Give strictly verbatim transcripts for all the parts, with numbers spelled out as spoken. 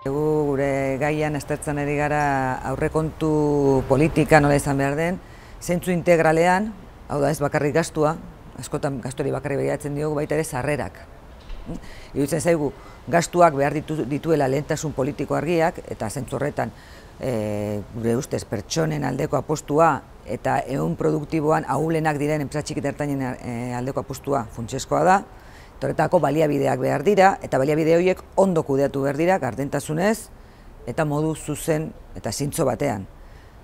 Egu gure gaian aztertzen ari gara aurrekontu politika nola izan behar den, zentzu integralean, hau da ez bakarrik gastua, askotan gastori bakarrik begiratzen diogu, baita ere sarrerak. Iruditzen zaigu, gastuak behar ditu, dituela lehentasun politiko argiak, eta zentzu horretan e, gure ustez pertsonen aldeko apostua eta ehun produktiboan ahulenak diren enpresa txiki eta ertainen e, aldeko apostua funtsezkoa da. Horretako baliabideak behar dira, eta baliabide horiek ondo kudeatu behar dira, gardentasunez eta modu zuzen eta zintzo batean.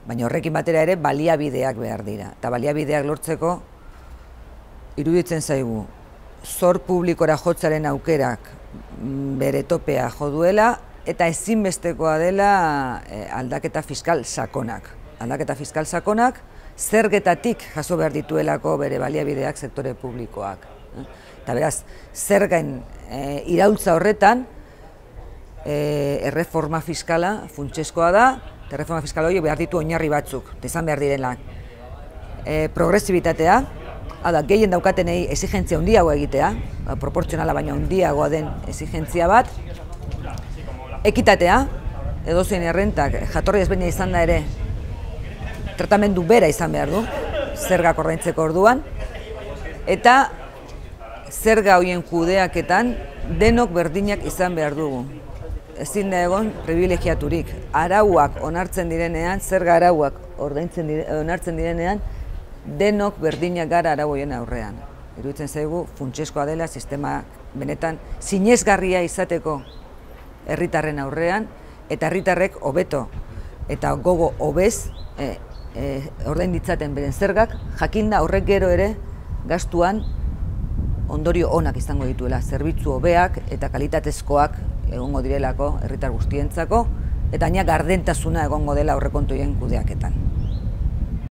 Baina horrekin batera ere baliabideak behar dira. Eta baliabideak lortzeko iruditzen zaigu, zor publikora jotzaren aukerak bere topea jo duela, eta ezinbestekoa dela aldaketa fiskal sakonak. Aldaketa fiskal sakonak zergetatik jaso behar dituelako bere baliabideak sektore publikoak. Eta beraz, zergain e, iraultza horretan, e, erreforma fiskala funtsezkoa da, eta erreforma fiskala hori behar ditu oinarri batzuk, eta izan behar direnak. E, progresibitatea, hau da, gehien daukatenei exigentzia handiagoa egitea, ba, proportzionala baina handiagoa den exigentzia bat, ekitatea, edozein errentak jatorri ezberdina izan da ere, tratamendu bera izan behar du, zergak ordaintzeko orduan, eta zerga horien kudeaketan denok berdinak izan behar dugu. Ezin da egon privilegiaturik. Arauak onartzen direnean, zerga arauak ordaintzen dire, onartzen direnean, denok berdinak gara arau horien aurrean. Iruditzen zaigu funtsezkoa dela sistema benetan sinesgarria izateko herritarren aurrean, eta herritarrek hobeto eta gogo hobez e, e, ordain ditzaten beren zergak, jakinda horrek gero ere gastuan ondorio onak izango dituela, zerbitzu hobeak eta kalitatezkoak egongo direlako herritar guztientzako, eta gaina gardentasuna egongo dela aurrekontu horien kudeaketan.